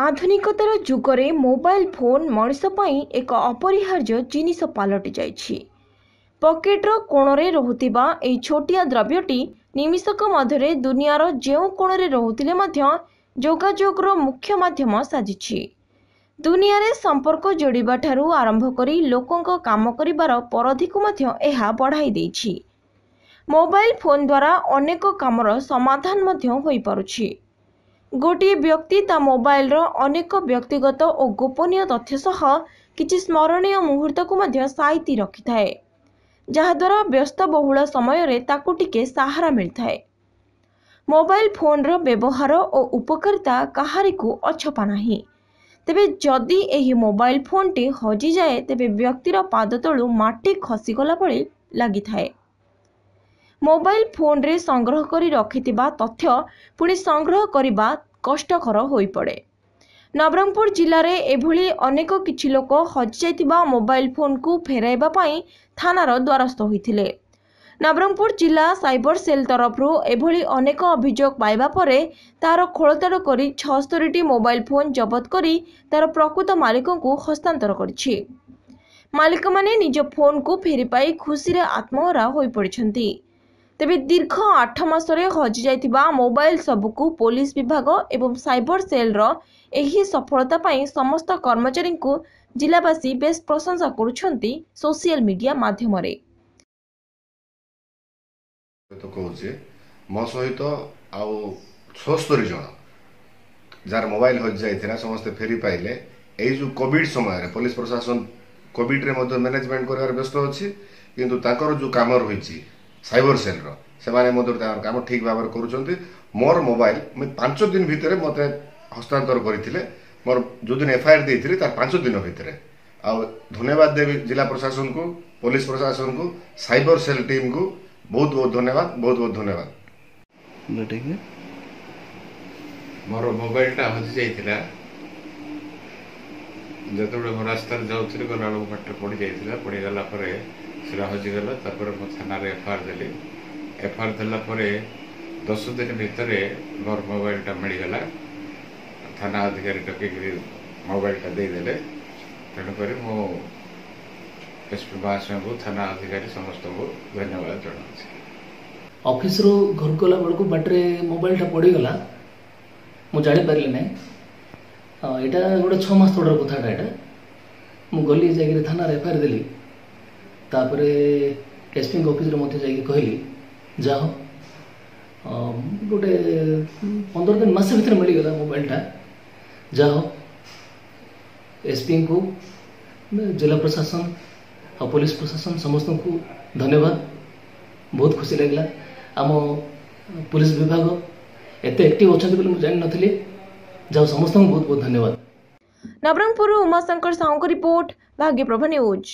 ଆଧୁନିକତାର ଯୁଗରେ mobile phone ମଣିଷ ପାଇଁ ଏକ ଅପରିହାର୍ଯ୍ୟ ଜିନିଷ ପାଲଟି ଯାଇଛି। ପକେଟ୍ର କୋଣରେ ରହୁଥିବା ଏହି ଛୋଟିଆ ଦ୍ରବ୍ୟଟି ନିମିଷକ ମଧ୍ୟରେ ଦୁନିଆର ଯେଉଁ କୋଣରେ ରହୁଥିଲେ ମଧ୍ୟ ଯୋଗାଯୋଗର ମୁଖ୍ୟ ମାଧ୍ୟମ ସାଜିଛି। ଦୁନିଆରେ ସମ୍ପର୍କ ଯୋଡ଼ିବା ଠାରୁ ଆରମ୍ଭ କରି ଲୋକଙ୍କ କାମ କରିବାର ପରିଧିକୁ ମଧ୍ୟ ଏହା ବଢ଼ାଇ ଦେଇଛି। ମୋବାଇଲ ଫୋନ୍ ଦ୍ୱାରା ଅନେକ କାମର ସମାଧାନ ମଧ୍ୟ ହୋଇପାରୁଛି। ଗୋଟିଏ ବ୍ୟକ୍ତି ତା ମୋବାଇଲର ଅନେକ ବ୍ୟକ୍ତିଗତ ଓ ଗୋପନୀୟ ତଥ୍ୟ ସହ କିଛି ସ୍ମରଣୀୟ ମୁହୂର୍ତ୍ତକୁ ମଧ୍ୟ ସାଇତି ରଖିଥାଏ, ଯାହାଦ୍ୱାରା ବ୍ୟସ୍ତବହୁଳ ସମୟରେ ତାକୁ ଟିକେ ସାହାରା ମିଳିଥାଏ। ମୋବାଇଲ ଫୋନ୍ର ବ୍ୟବହାର ଓ ଉପକାରିତା କାହାରିକୁ ଅଛପା ନାହିଁ। ତେବେ ଯଦି ଏହି ମୋବାଇଲ ଫୋନ୍ଟି ହଜିଯାଏ, ତେବେ ବ୍ୟକ୍ତିର ପାଦ ତଳୁ ମାଟି ଖସିଗଲା ଭଳି ଲାଗିଥାଏ। ମୋବାଇଲ ଫୋନ୍ରେ ସଂଗ୍ରହ କରି ରଖିଥିବା ତଥ୍ୟ ପୁଣି ସଂଗ୍ରହ କରିବା କଷ୍ଟକର ହୋଇପଡ଼େ। ନବରଙ୍ଗପୁର ଜିଲ୍ଲାରେ ଏଭଳି ଅନେକ କିଛି ଲୋକ ହଜିଯାଇଥିବା ମୋବାଇଲ ଫୋନ୍କୁ ଫେରାଇବା ପାଇଁ ଥାନାର ଦ୍ୱାରସ୍ଥ ହୋଇଥିଲେ। ନବରଙ୍ଗପୁର ଜିଲ୍ଲା ସାଇବର ସେଲ୍ ତରଫରୁ ଏଭଳି ଅନେକ ଅଭିଯୋଗ ପାଇବା ପରେ ତାର ଖୋଳତାଡ଼ କରି 76ଟି ମୋବାଇଲ ଫୋନ୍ ଜବତ କରି ତାର ପ୍ରକୃତ ମାଲିକଙ୍କୁ ହସ୍ତାନ୍ତର କରିଛି। ମାଲିକମାନେ ନିଜ ଫୋନ୍କୁ ଫେରି ପାଇ ଖୁସିରେ ଆତ୍ମହରା ହୋଇପଡ଼ିଛନ୍ତି। ତେବେ ଦୀର୍ଘ 8 ମାସରେ ହଜିଯାଇଥିବା ମୋବାଇଲ ସବୁକୁ ପୋଲିସ ବିଭାଗ ଏବଂ ସାଇବର ସେଲ୍ର ଏହି ସଫଳତା ପାଇଁ ସମସ୍ତ କର୍ମଚାରୀଙ୍କୁ ଜିଲ୍ଲାବାସୀ ବେଶ୍ ପ୍ରଶଂସା କରୁଛନ୍ତି ସୋସିଆଲ ମିଡିଆ ମାଧ୍ୟମରେ। ତ କହୁଛି, ମୋ ସହିତ ଆଉ 76 ଜଣ ଯାହାର ମୋବାଇଲ ହଜିଯାଇଥିଲା, ସମସ୍ତେ ଫେରି ପାଇଲେ। ଏଇ ଯେଉଁ କୋଭିଡ଼ ସମୟରେ ପୋଲିସ ପ୍ରଶାସନ କୋଭିଡ଼ରେ ମଧ୍ୟ ମ୍ୟାନେଜମେଣ୍ଟ କରିବାରେ ବ୍ୟସ୍ତ ଅଛି, କିନ୍ତୁ ତାଙ୍କର ଯେଉଁ କାମ ରହିଛି ସାଇବର ସେଲ୍ର, ସେମାନେ ମଧ୍ୟ ତାଙ୍କର କାମ ଠିକ୍ ଭାବରେ କରୁଛନ୍ତି। ମୋର ମୋବାଇଲ ମୁଁ 5 ଦିନ ଭିତରେ ମୋତେ ହସ୍ତାନ୍ତର କରିଥିଲେ, ମୋର ଯେଉଁଦିନ ଏଫଆଇଆର୍ ଦେଇଥିଲି ତାର 5 ଦିନ ଭିତରେ। ଆଉ ଧନ୍ୟବାଦ ଦେବି ଜିଲ୍ଲା ପ୍ରଶାସନକୁ, ପୋଲିସ ପ୍ରଶାସନକୁ, ସାଇବର ସେଲ୍ ଟିମ୍କୁ। ବହୁତ ବହୁତ ଧନ୍ୟବାଦ, ବହୁତ ବହୁତ ଧନ୍ୟବାଦ। ମୋର ମୋବାଇଲଟା ହଜିଯାଇଥିଲା। ଯେତେବେଳେ ମୁଁ ରାସ୍ତାରେ ଯାଉଥିଲି, ଗଲାବେଳକୁ ବାଟରେ ପଡ଼ିଯାଇଥିଲା। ପଡ଼ିଗଲା ପରେ ସେଟା ହଜିଗଲା। ତାପରେ ମୁଁ ଥାନାରେ ଏଫଆଇଆର୍ ଦେଲି। ଏଫଆଇଆର୍ ଦେଲା ପରେ 10 ଦିନ ଭିତରେ ମୋର ମୋବାଇଲଟା ମିଳିଗଲା। ଥାନା ଅଧିକାରୀ ଡକେଇକିରି ମୋବାଇଲଟା ଦେଇଦେଲେ। ତେଣୁକରି ମୁଁ ଏସ୍ ପି ମହାଶୟଙ୍କୁ, ଥାନା ଅଧିକାରୀ ସମସ୍ତଙ୍କୁ ଧନ୍ୟବାଦ ଜଣାଉଛି। ଅଫିସରୁ ଘରକୁ ଗଲା ବେଳକୁ ବାଟରେ ମୋବାଇଲଟା ପଡ଼ିଗଲା, ମୁଁ ଜାଣିପାରିଲି ନାହିଁ। ଏଇଟା ଗୋଟେ 6 ମାସ ତଳର କଥାଟା ଏଇଟା। ମୁଁ ଗଲି, ଯାଇକିରି ଥାନାରେ ଏଫଆଇଆର୍ ଦେଲି। ତାପରେ ଏସ୍ପିଙ୍କ ଅଫିସରେ ମଧ୍ୟ ଯାଇକି କହିଲି। ଯାହା ହଉ, ଗୋଟେ 15 ଦିନ, ମାସେ ଭିତରେ ମିଳିଗଲା ମୋବାଇଲଟା। ଯାହା ହଉ, ଏସ୍ପିଙ୍କୁ, ଜିଲ୍ଲା ପ୍ରଶାସନ ଆଉ ପୋଲିସ ପ୍ରଶାସନ ସମସ୍ତଙ୍କୁ ଧନ୍ୟବାଦ। ବହୁତ ଖୁସି ଲାଗିଲା। ଆମ ପୋଲିସ ବିଭାଗ ଏତେ ଆକ୍ଟିଭ ଅଛନ୍ତି ବୋଲି ମୁଁ ଜାଣିନଥିଲି। ଯାହା, ସମସ୍ତଙ୍କୁ ବହୁତ ବହୁତ ଧନ୍ୟବାଦ। ନବରଙ୍ଗପୁରରୁ ଉମାଶଙ୍କର ସାହୁଙ୍କ ରିପୋର୍ଟ, ଭାଗ୍ୟପ୍ରଭା ନ୍ୟୁଜ୍।